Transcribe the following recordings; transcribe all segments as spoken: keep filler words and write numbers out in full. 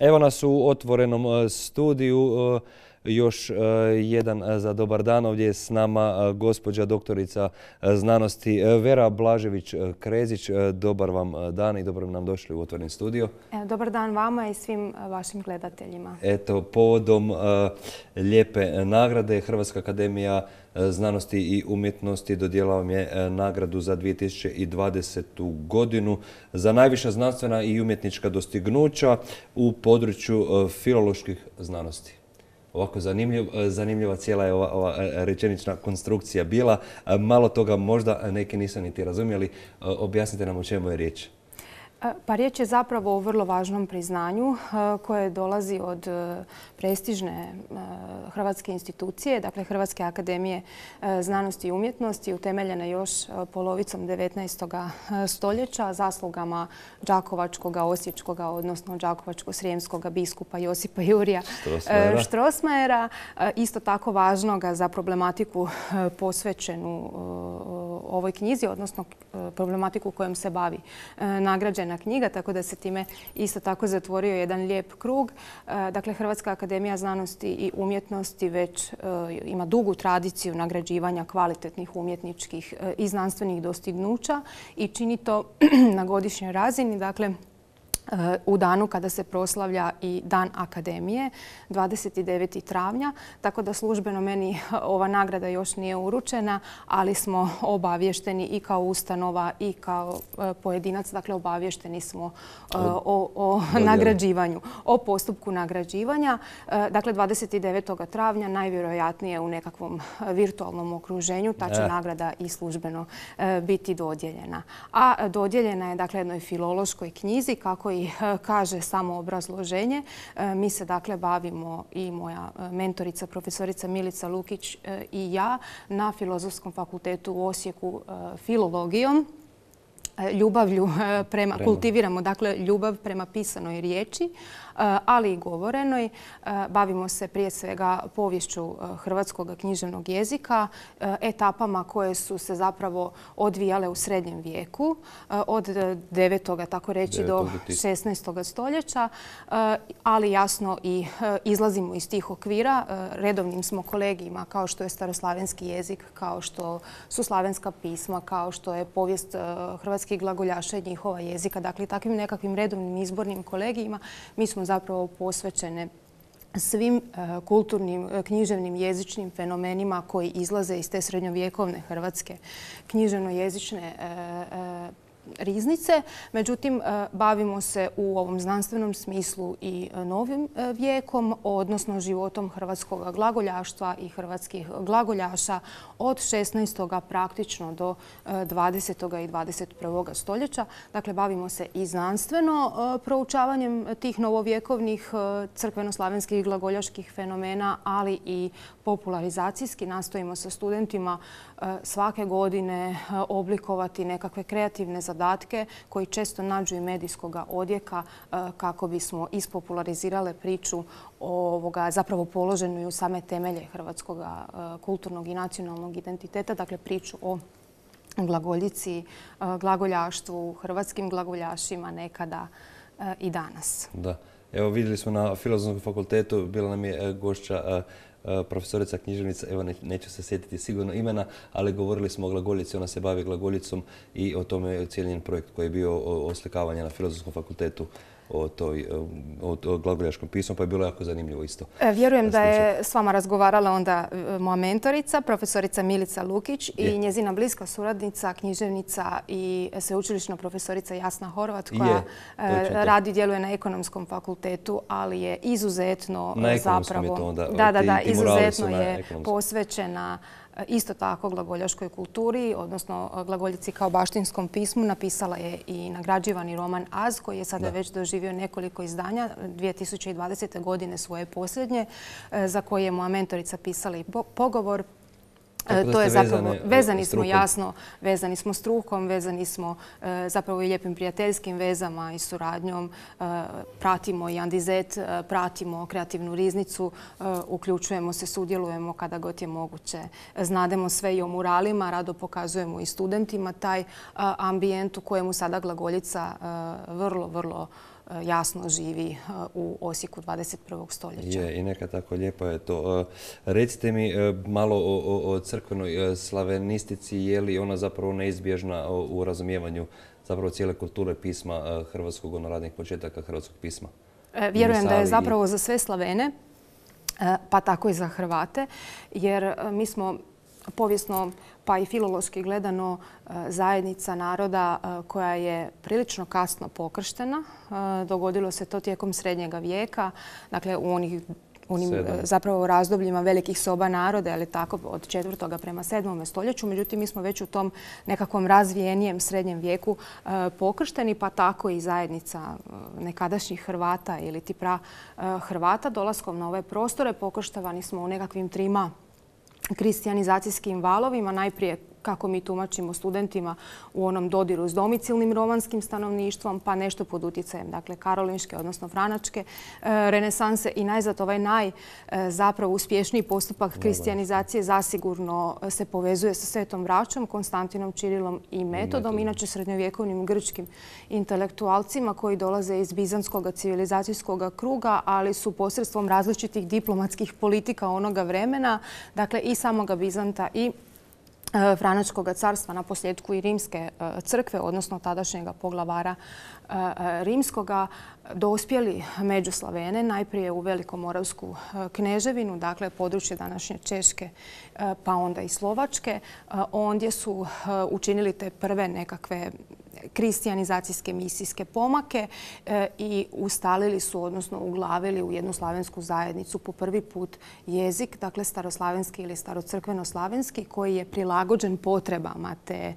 Evo nas u otvorenom studiju. Još jedan za dobar dan. Ovdje je s nama gospođa doktorica znanosti Vera Blažević-Krezić. Dobar vam dan i dobro nam došli u otvoreni studio. Dobar dan vama i svim vašim gledateljima. Eto, povodom lijepe nagrade Hrvatska akademija znanosti i umjetnosti dodijelila vam je nagradu za dvije tisuće dvadesetu. godinu za najviša znanstvena i umjetnička dostignuća u području filoloških znanosti. Ovako zanimljiv, zanimljiva cijela je ova, ova rečenična konstrukcija bila. Malo toga možda neki nisu niti razumjeli. Objasnite nam o čemu je riječ. Pa riječ je zapravo o vrlo važnom priznanju koje dolazi od prestižne hrvatske institucije, dakle Hrvatske akademije znanosti i umjetnosti, utemeljene još polovicom devetnaestog stoljeća zaslugama Đakovačkoga, Osječkoga, odnosno Đakovačko-srijemskoga biskupa Josipa Jurija Strossmayera. Isto tako važnoga za problematiku posvećenu ovoj knjizi, odnosno problematiku kojom se bavi nagrađena knjiga, tako da se time isto tako zatvorio jedan lijep krug. Dakle, Hrvatska akademija znanosti i umjetnosti već ima dugu tradiciju nagrađivanja kvalitetnih umjetničkih i znanstvenih dostignuća i čini to na godišnjoj razini. Dakle, u danu kada se proslavlja i Dan Akademije, dvadeset devetog travnja, tako da službeno meni ova nagrada još nije uručena, ali smo obavješteni i kao ustanova i kao pojedinac, dakle obavješteni smo o, o nagrađivanju, o postupku nagrađivanja. Dakle, dvadeset devetog travnja najvjerojatnije u nekakvom virtualnom okruženju ta će nagrada i službeno biti dodijeljena. A dodijeljena je dakle jednoj filološkoj knjizi, kako i kaže samo obrazloženje. Mi se dakle bavimo, i moja mentorica, profesorica Milica Lukić i ja, na Filozofskom fakultetu u Osijeku filologijom. Ljubavlju prema, kultiviramo dakle ljubav prema pisanoj riječi, ali i govorenoj. Bavimo se prije svega poviješću hrvatskog književnog jezika, etapama koje su se zapravo odvijale u srednjem vijeku, od devetog tako reći do šesnaestog stoljeća, ali jasno i izlazimo iz tih okvira. Redovnim smo kolegijima kao što je staroslavenski jezik, kao što su slavenska pisma, kao što je povijest hrvatskih glagoljaša i njihova jezika. Dakle, takvim nekakvim redovnim izbornim kolegijima mi smo zapravo posvećene svim kulturnim, književnim, jezičnim fenomenima koji izlaze iz te srednjovjekovne hrvatske književno-jezične riznice. Međutim, bavimo se u ovom znanstvenom smislu i novim vijekom, odnosno životom hrvatskog glagoljaštva i hrvatskih glagoljaša od šesnaestog praktično do dvadesetog i dvadeset prvog stoljeća. Dakle, bavimo se i znanstveno proučavanjem tih novovjekovnih crkveno-slavenskih glagoljaških fenomena, ali i popularizacijski nastojimo sa studentima svake godine oblikovati nekakve kreativne zadatke koji često nađu i medijskog odjeka kako bismo ispopularizirale priču ovoga, zapravo položenu i u same temelje hrvatskog kulturnog i nacionalnog identiteta, dakle priču o glagoljici, glagoljaštvu, hrvatskim glagoljašima nekada i danas. Da. Evo, vidjeli smo na Filozofskom fakultetu, bila nam je gošća profesorica književnica, evo neću se sjetiti sigurno imena, ali govorili smo o glagoljici, ona se bavi glagoljicom i o tome cijeli njen projekt koji je bio oslikavanje na Filozofskom fakultetu o, toj, o, o glagoljaškom pismu, pa je bilo jako zanimljivo isto. Vjerujem da je s vama razgovarala onda moja mentorica, profesorica Milica Lukić i njezina bliska suradnica, književnica i sveučilišna profesorica Jasna Horvat, koja radi, djeluje na Ekonomskom fakultetu, ali je izuzetno na zapravo... Je to onda, da, da, da, ti, ti izuzetno je posvećena isto tako glagoljaškoj kulturi, odnosno glagoljici kao baštinskom pismu. Napisala je i nagrađivani roman Az, koji je sada da. već doživio nekoliko izdanja, dvije tisuće dvadesete. godine svoje posljednje, za koje je moja mentorica pisala i pogovor. To je zapravo, vezani smo jasno, vezani smo strukom, vezani smo zapravo i lijepim prijateljskim vezama i suradnjom. Pratimo i Andizet, pratimo kreativnu riznicu, uključujemo se, sudjelujemo kada god je moguće. Znademo sve i o muralima, rado pokazujemo i studentima taj ambijent u kojemu sada glagoljica vrlo, vrlo jasno živi u Osijeku dvadeset prvog stoljeća. Je, i neka tako lijepo je to. Recite mi malo o, o crkvenoj slavenistici, je li ona zapravo neizbježna u razumijevanju zapravo cijele kulture pisma hrvatskog, ono radnih početaka hrvatskog pisma? Vjerujem da je zapravo za sve Slavene, pa tako i za Hrvate, jer mi smo povijesno pa i filološki gledano zajednica naroda koja je prilično kasno pokrštena. Dogodilo se to tijekom srednjega vijeka, dakle u onih onim zapravo razdobljima velikih soba naroda, ali tako od četvrtoga prema sedmome stoljeću. Međutim, mi smo već u tom nekakvom razvijenijem srednjem vijeku pokršteni, pa tako i zajednica nekadašnjih Hrvata ili ti pra Hrvata. Dolaskom na ove prostore pokrštavani smo u nekakvim trima kristijanizacijskim valovima. Najprije, kako mi tumačimo studentima, u onom dodiru s domicilnim romanskim stanovništvom, pa nešto pod utjecajem, dakle, karolinške, odnosno franačke renesanse i najzad ovaj naj zapravo uspješniji postupak kristijanizacije zasigurno se povezuje sa Svetom Braćom, Konstantinom, Čirilom i Metodom, inače srednjovjekovnim grčkim intelektualcima koji dolaze iz bizantskog civilizacijskog kruga, ali su posredstvom različitih diplomatskih politika onoga vremena, dakle i samoga Bizanta i Franačkog carstva, na posljedku i Rimske crkve, odnosno tadašnjega poglavara Rimskoga, dospjeli među Slavene, najprije u Velikomoravsku kneževinu, dakle područje današnje Češke, pa onda i Slovačke. Ondje su učinili te prve nekakve kristijanizacijske misijske pomake i ustalili su, odnosno uglavili u jednu slavensku zajednicu po prvi put jezik, dakle staroslavenski ili starocrkveno-slavenski, koji je prilagođen potrebama te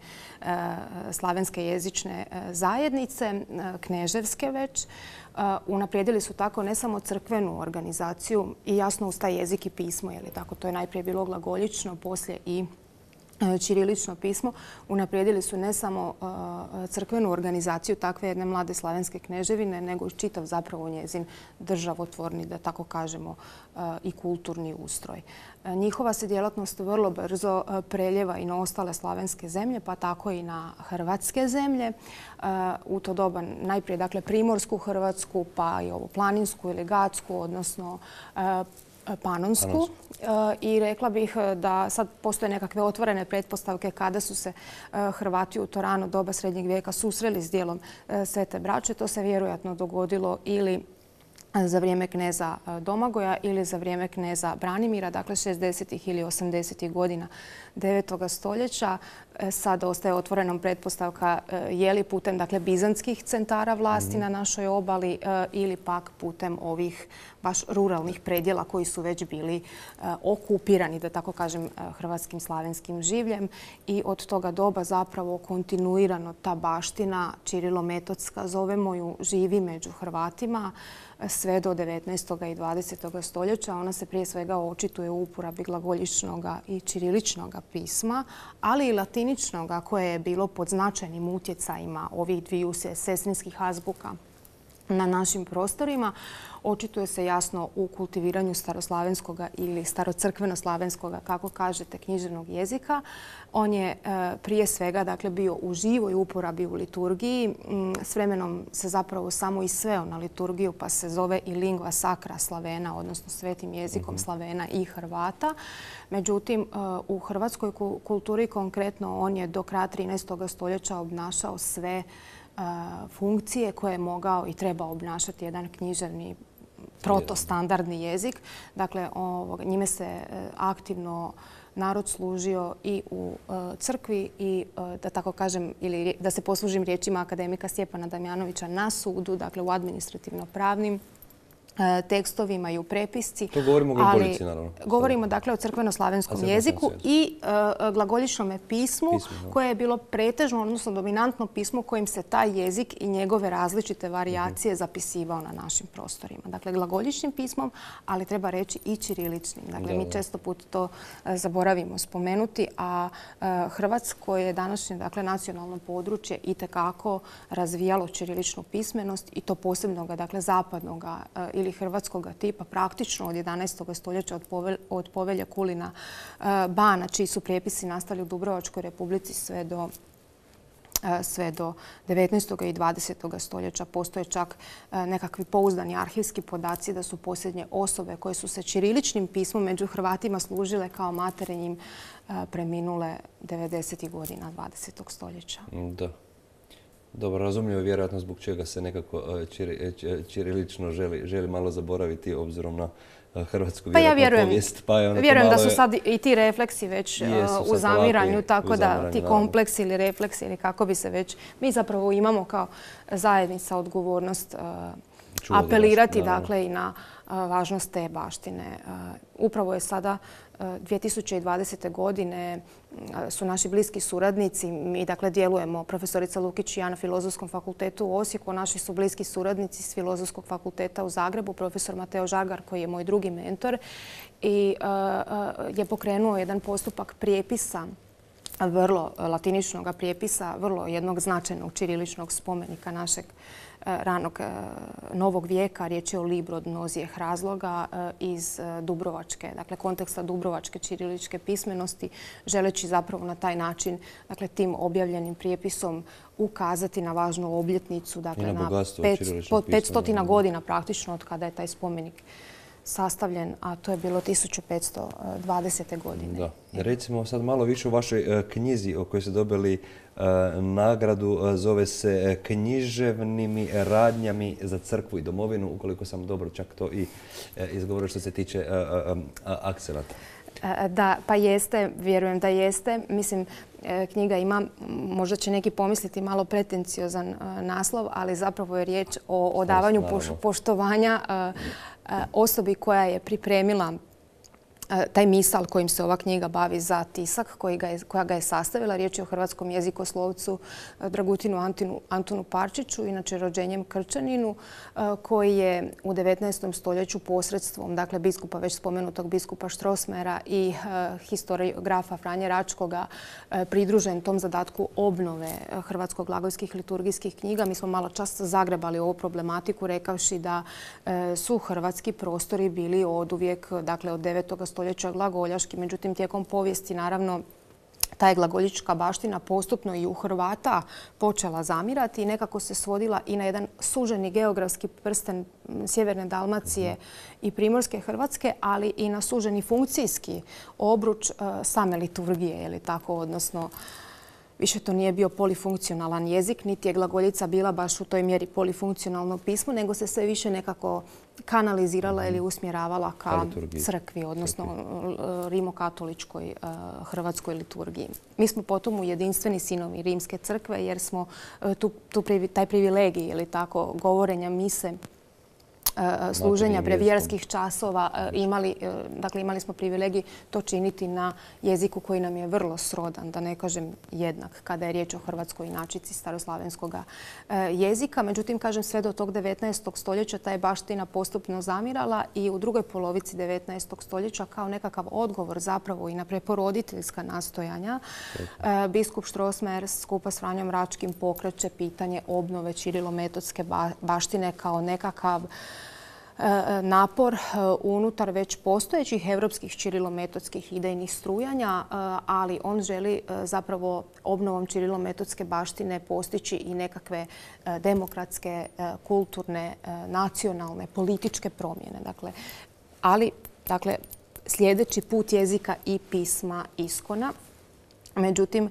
slavenske jezične zajednice, kneževske već. Unaprijedili su tako ne samo crkvenu organizaciju i jasno uz taj jezik i pismo, jer tako to je najprije bilo glagoljično, poslije i ćirilično pismo. Unaprijedili su ne samo crkvenu organizaciju takve jedne mlade slavenske kneževine, nego i čitav zapravo njezin državotvorni, da tako kažemo, i kulturni ustroj. Njihova se djelatnost vrlo brzo preljeva i na ostale slavenske zemlje, pa tako i na hrvatske zemlje. U to doba najprije dakle primorsku Hrvatsku, pa i ovu planinsku ili gatsku, odnosno panonsku. I rekla bih da sad postoje nekakve otvorene pretpostavke kada su se Hrvati u to rano doba srednjeg vijeka susreli s dijelom Svete Braće. To se vjerojatno dogodilo ili za vrijeme kneza Domagoja ili za vrijeme kneza Branimira, dakle šezdesetih ili osamdesetih godina devetoga stoljeća. Sad ostaje otvorenom pretpostavka je li putem dakle, bizantskih centara vlasti na našoj obali ili pak putem ovih baš ruralnih predjela koji su već bili okupirani, da tako kažem, hrvatskim slavenskim življem. I od toga doba zapravo kontinuirano ta baština čirilometodska, zovemo ju, živi među Hrvatima sve do devetnaestog i dvadesetog stoljeća. Ona se prije svega očituje u uporabi glagoljičnog i ćiriličnog pisma, ali i latiničnog koje je bilo pod značajnim utjecajima ovih dviju sestrinskih azbuka na našim prostorima. Očituje se jasno u kultiviranju staroslavenskog ili starocrkveno-slavenskog, kako kažete, književnog jezika. On je prije svega dakle, bio u živoj uporabi u liturgiji. S vremenom se zapravo samo i sveo na liturgiju, pa se zove i lingva sacra Slavena, odnosno svetim jezikom Slavena i Hrvata. Međutim, u hrvatskoj kulturi konkretno on je do kraja trinaestog stoljeća obnašao sve funkcije koje je mogao i trebao obnašati jedan književni protostandardni jezik. Dakle, njime se aktivno narod služio i u crkvi i, da tako kažem, ili da se poslužim riječima akademika Stjepana Damjanovića, na sudu, dakle u administrativno-pravnim tekstovima i u prepisci. To govorimo o glagoljici, naravno. Govorimo dakle o crkveno-slavenskom jeziku i glagoljičnom pismu koje je bilo pretežno, odnosno dominantno pismo kojim se taj jezik i njegove različite varijacije zapisivao na našim prostorima. Dakle, glagoljičnim pismom, ali treba reći i ćiriličnim. Dakle, mi često put to zaboravimo spomenuti, a Hrvatsko je današnje dakle, nacionalno područje itekako razvijalo ćiriličnu pismenost i to posebnoga, dakle, zapadnoga ili hrvatskog tipa, praktično od jedanaestog stoljeća od povelja Kulina Bana, čiji su prijepisi nastali u Dubrovačkoj republici sve do sve do devetnaestog i dvadesetog stoljeća. Postoje čak nekakvi pouzdani arhivski podaci da su posljednje osobe koje su se ćiriličnim pismom među Hrvatima služile kao materinjim preminule devedesetih godina dvadesetog stoljeća. Da. Dobro, razumljivo je vjerojatno zbog čega se nekako ćirilično želi malo zaboraviti obzirom na hrvatsku vjerojatnu povijest. Pa ja vjerujem da su sad i ti refleksi već u zamiranju, tako da ti kompleksi ili refleksi ili kako bi se već... Mi zapravo imamo kao zajednica odgovornost apelirati dakle i na važnost te baštine. Upravo je sada dvije tisuće dvadesete. godine su naši bliski suradnici. Mi dakle djelujemo, profesorica Lukić i ja na Filozofskom fakultetu u Osijeku. Naši su bliski suradnici s Filozofskog fakulteta u Zagrebu, profesor Mateo Žagar koji je moj drugi mentor i je pokrenuo jedan postupak prijepisa, vrlo latiničnog prijepisa, vrlo jednog značajnog ćiriličnog spomenika našeg ranog novog vijeka. Riječ je o libru od mnozijeh razloga iz Dubrovačke, dakle konteksta Dubrovačke ćiriličke pismenosti, želeći zapravo na taj način, dakle tim objavljenim prijepisom ukazati na važnu obljetnicu, dakle na petsto godina praktično od kada je taj spomenik sastavljen, a to je bilo tisuću petsto dvadesete. godine. Da. Recimo sad malo više u vašoj knjizi o kojoj ste dobili nagradu, zove se Književnim radnjami za crkvu i domovinu, ukoliko sam dobro čak to i izgovorio što se tiče akcenata. Da, pa jeste, vjerujem da jeste. Mislim, knjiga ima, možda će neki pomisliti, malo pretenciozan naslov, ali zapravo je riječ o odavanju poštovanja osobi koja je pripremila taj misal kojim se ova knjiga bavi za tisak, koja ga je sastavila. Riječ je o hrvatskom jezikoslovcu Dragutinu Antunu Parčiću, inače rođenjem Krčaninu, koji je u devetnaestom stoljeću posredstvom, dakle biskupa, već spomenutog biskupa Strossmayera i historiografa Franje Račkoga pridružen tom zadatku obnove hrvatsko-glagolskih liturgijskih knjiga. Mi smo malo čas zagrebali ovu problematiku rekavši da su hrvatski prostori bili oduvijek, dakle od devetog stoljeća glagoljaški. Međutim, tijekom povijesti, naravno, ta je glagoljička baština postupno i u Hrvata počela zamirati i nekako se svodila i na jedan suženi geografski prsten sjeverne Dalmacije i primorske Hrvatske, ali i na suženi funkcijski obruč same liturgije, je li tako, odnosno više to nije bio polifunkcionalan jezik, niti je glagoljica bila baš u toj mjeri polifunkcionalno pismo, nego se sve više nekako kanalizirala ili usmjeravala ka crkvi, odnosno rimokatoličkoj hrvatskoj liturgiji. Mi smo potom u jedinstveni sinovi Rimske crkve jer smo taj privilegij, ili tako, govorenja mise, služenja brevjerskih časova imali, dakle imali smo privilegij to činiti na jeziku koji nam je vrlo srodan, da ne kažem jednak, kada je riječ o hrvatskoj inačici staroslavenskog jezika. Međutim, kažem, sve do tog devetnaestog stoljeća ta je baština postupno zamirala i u drugoj polovici devetnaestog stoljeća kao nekakav odgovor zapravo i na preporoditeljska nastojanja biskup Strossmayer skupa s Franjom Račkim pokreće pitanje obnove ćirilometodske baštine kao nekakav napor unutar već postojećih evropskih ćirilometodskih idejnih strujanja, ali on želi zapravo obnovom ćirilometodske baštine postići i nekakve demokratske, kulturne, nacionalne, političke promjene. Dakle, ali dakle, sljedeći put jezika i pisma iskona. Međutim,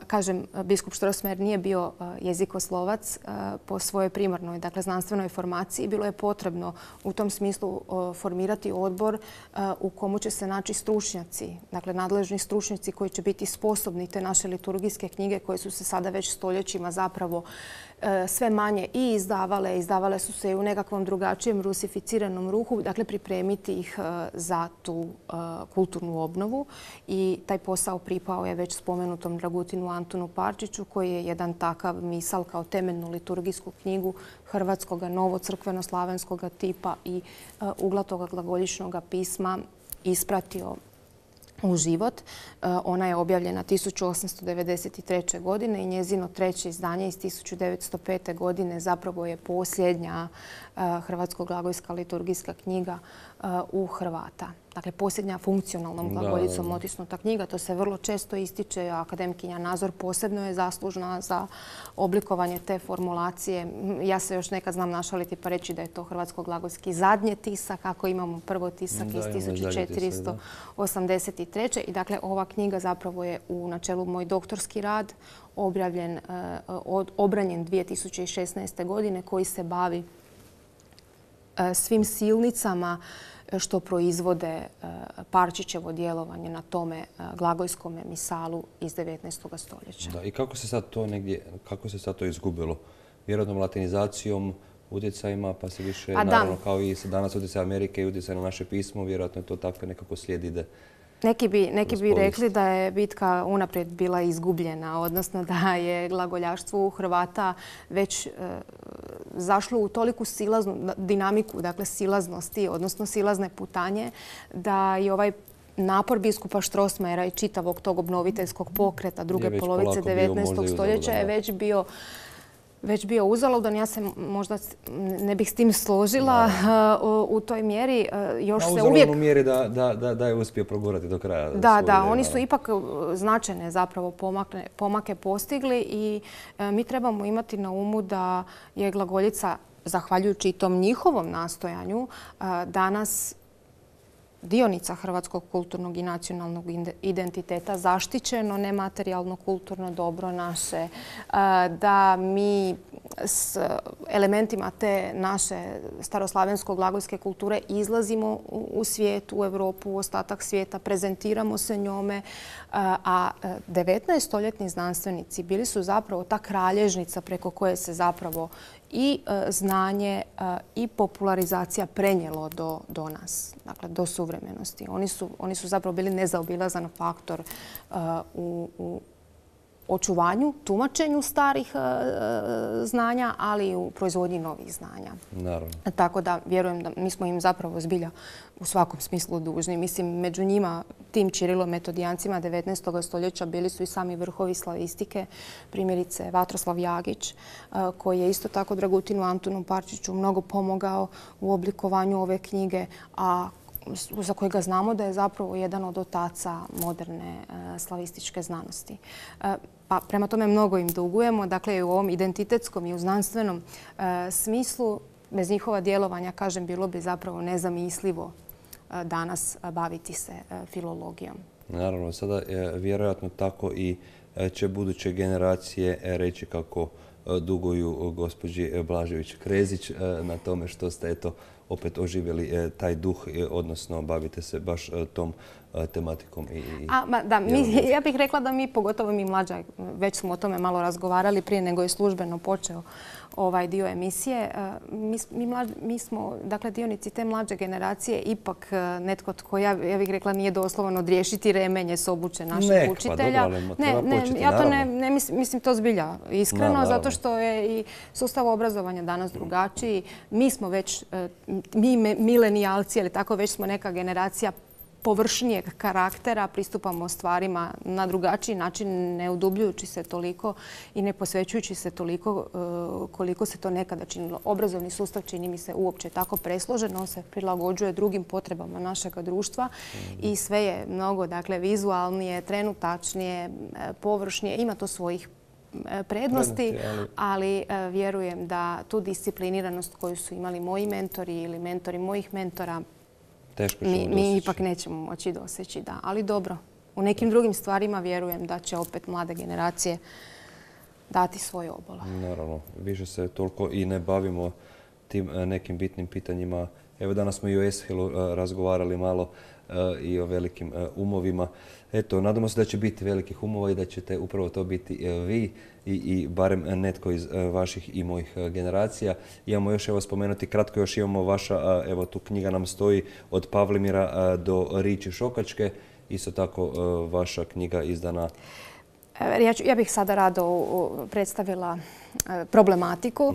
kažem, biskup Strossmayer nije bio jezikoslovac po svojoj primarnoj, dakle znanstvenoj formaciji. Bilo je potrebno u tom smislu formirati odbor u komu će se naći stručnjaci, dakle nadležni stručnjaci koji će biti sposobni te naše liturgijske knjige koje su se sada već stoljećima zapravo sve manje i izdavale. Izdavale su se i u nekakvom drugačijem rusificiranom ruhu, dakle pripremiti ih za tu kulturnu obnovu. I taj posao pripao je već spomenutom Dragutinu Antunu Parčiću koji je jedan takav misal kao temeljnu liturgijsku knjigu hrvatskog novocrkveno-slavenskog tipa i uglatog glagoljičnog pisma ispratio u život. Ona je objavljena tisuću osamsto devedeset treće. godine i njezino treće izdanje iz tisuću devetsto pete. godine zapravo je posljednja hrvatsko-glagojska liturgijska knjiga u Hrvata. Dakle, posljednja funkcionalnom glagoljicom otisnuta knjiga. To se vrlo često ističe. Akademkinja Nazor posebno je zaslužna za oblikovanje te formulacije. Ja se još nekad znam našaliti pa reći da je to hrvatsko-glagoljski zadnji tisak, ako imamo prvo tisak iz tisuću četiristo osamdeset treće. I dakle, ova knjiga zapravo je u načelu moj doktorski rad, objavljen, obranjen dvije tisuće šesnaeste. godine, koji se bavi svim silnicama što proizvode Parčićevo djelovanje na tome glagoljskom misalu iz devetnaestog stoljeća. Da, i kako se sad to negdje, kako se sad to izgubilo? Vjerojatnom latinizacijom, utjecajima, pa se više, A naravno, da. kao i danas utjecaj Amerike i utjecaj na naše pismo, vjerojatno je to tako nekako slijed ide. Neki bi, neki bi rekli da je bitka unaprijed bila izgubljena, odnosno da je glagoljaštvo u Hrvata već e, zašlo u toliku silaznu dinamiku, dakle silaznosti, odnosno silazne putanje, da je ovaj napor biskupa Strossmayera i čitavog tog obnoviteljskog pokreta druge polovice devetnaestog. stoljeća je već bio već bio uzaludan. Ja se možda ne bih s tim složila u toj mjeri. Još se uvijek... u mjeri da, da, da je uspio progurati do kraja. Da, da. Oni su ipak značajne zapravo pomake, pomake postigli i mi trebamo imati na umu da je glagoljica, zahvaljujući tom njihovom nastojanju, danas dionica hrvatskog kulturnog i nacionalnog identiteta, zaštićeno nematerijalno kulturno dobro naše, da mi s elementima te naše staroslavensko-glagoljske kulture izlazimo u svijet, u Europu, u ostatak svijeta, prezentiramo se njome, a devetnaestostoljetni znanstvenici bili su zapravo ta kralježnica preko koje se zapravo i znanje i popularizacija prenijelo do, do nas, dakle do suvremenosti. Oni su, oni su zapravo bili nezaobilazan faktor uh, u, u očuvanju, tumačenju starih uh, znanja, ali i u proizvodnji novih znanja. Naravno. Tako da vjerujem da mi smo im zapravo zbilja u svakom smislu dužni. Mislim, među njima, tim Čirilo-metodijancima devetnaestog. stoljeća bili su i sami vrhovi slavistike, primjerice Vatroslav Jagić, koji je isto tako Dragutinu Antunu Parčiću mnogo pomogao u oblikovanju ove knjige, a za kojega znamo da je zapravo jedan od otaca moderne slavističke znanosti. Pa prema tome mnogo im dugujemo. Dakle, u ovom identitetskom i u znanstvenom smislu bez njihova djelovanja, kažem, bilo bi zapravo nezamislivo danas baviti se filologijom. Naravno, sada vjerojatno tako i će buduće generacije reći kako duguju gospođi Blažević-Krezić na tome što ste eto opet oživjeli taj duh, odnosno bavite se baš tom tematikom. I, A, ma, da, mi, ja bih rekla da mi, pogotovo mi mlađa, već smo o tome malo razgovarali prije nego je službeno počeo ovaj dio emisije. Mi, mi, mlađ, mi smo, dakle, dionici te mlađe generacije, ipak netko tko, ja, ja bih rekla, nije doslovno odriješiti remenje s obuče naših Nekva, učitelja. Dobro, ali ne, ne, početi, ja to ne, naravno. ne mislim, mislim to zbilja iskreno, Na, zato što je i sustav obrazovanja danas drugačiji. Mi smo već, mi milenijalci, ali tako već smo neka generacija površnijeg karaktera, pristupamo stvarima na drugačiji način, ne udubljujući se toliko i ne posvećujući se toliko koliko se to nekada činilo. Obrazovni sustav čini mi se uopće tako presložen, on se prilagođuje drugim potrebama našeg društva i sve je mnogo, dakle, vizualnije, trenutačnije, površnije. Ima to svojih prednosti, ali vjerujem da tu discipliniranost koju su imali moji mentori ili mentori mojih mentora mi, mi ipak nećemo moći doseći. Da. Ali dobro, u nekim drugim stvarima vjerujem da će opet mlade generacije dati svoj obol. Naravno, više se toliko i ne bavimo tim nekim bitnim pitanjima. Evo danas smo i o Eshilu razgovarali malo i o velikim umovima. Eto, nadamo se da će biti velikih umova i da ćete upravo to biti vi i, i barem netko iz vaših i mojih generacija. Imamo još, evo spomenuti, kratko još imamo vaša, evo tu knjiga nam stoji od Pavlimira do Riči Šokačke. Isto tako vaša knjiga izdana Ja bih sada rado predstavila problematiku.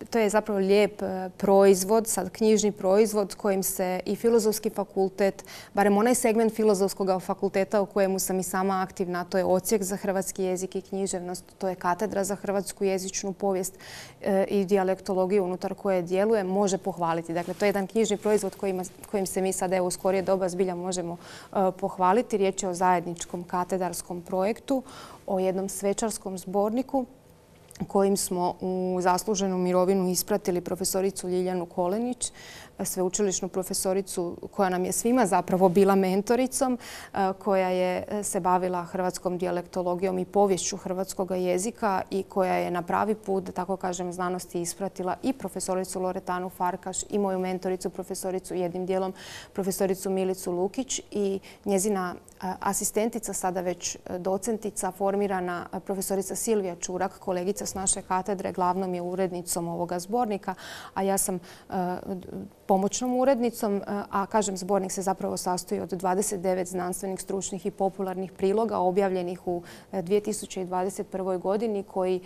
To je zapravo lijep proizvod, sad knjižni proizvod kojim se i Filozofski fakultet, barem onaj segment Filozofskog fakulteta u kojemu sam i sama aktivna, to je Odsjek za hrvatski jezik i književnost, to je Katedra za hrvatsku jezičnu povijest i dijalektologiju unutar koje djeluje, može pohvaliti. Dakle, to je jedan knjižni proizvod kojim se mi sad u skorije doba zbilja možemo pohvaliti. Riječ je o zajedničkom katedarskom projektu, o jednom svečarskom zborniku kojim smo u zasluženu mirovinu ispratili profesoricu Ljiljanu Kolenić, sveučilišnu profesoricu koja nam je svima zapravo bila mentoricom, koja je se bavila hrvatskom dijalektologijom i poviješću hrvatskog jezika i koja je na pravi put, da tako kažem, znanosti ispratila i profesoricu Loretanu Farkaš i moju mentoricu, profesoricu jednim dijelom, profesoricu Milicu Lukić i njezina asistentica, sada već docentica, formirana profesorica Silvija Čurak, kolegica s naše katedre, glavnom je urednicom ovoga zbornika, a ja sam pomoćnom urednicom, a kažem zbornik se zapravo sastoji od dvadeset devet znanstvenih, stručnih i popularnih priloga objavljenih u dvije tisuće dvadeset prvoj godini koji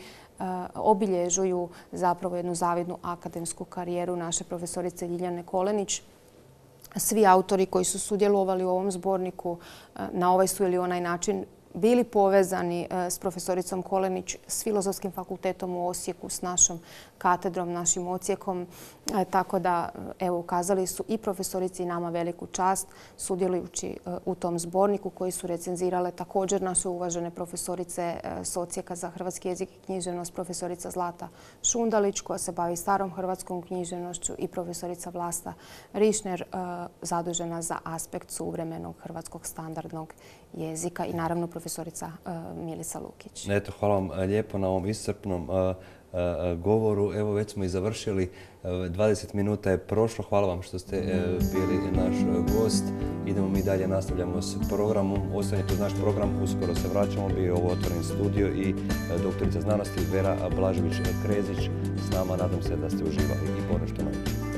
obilježuju zapravo jednu zavidnu akademsku karijeru naše profesorice Ljiljane Kolenić. Svi autori koji su sudjelovali u ovom zborniku na ovaj su ili onaj način bili povezani s profesoricom Kolenić, s Filozofskim fakultetom u Osijeku, s našom katedrom, našim odsjekom. Tako da, evo, ukazali su i profesorici i nama veliku čast sudjelujući u tom zborniku koji su recenzirale također naše uvažene profesorice s odsjeka za hrvatski jezik i književnost, profesorica Zlata Šundalić koja se bavi starom hrvatskom književnošću i profesorica Vlasta Rišner zadužena za aspekt suvremenog hrvatskog standardnog jezika i naravno profesorica Milica Lukić. Eto, hvala vam lijepo na ovom iscrpnom govoru. Evo, već smo i završili. dvadeset minuta je prošlo. Hvala vam što ste bili naš gost. Idemo mi dalje, nastavljamo s programom. Ostanite uz naš program, uskoro se vraćamo. Bio je ovo Otvoreni studio i doktorica znanosti Vera Blažević-Krezić s nama. Nadam se da ste uživali i ponešto naučili.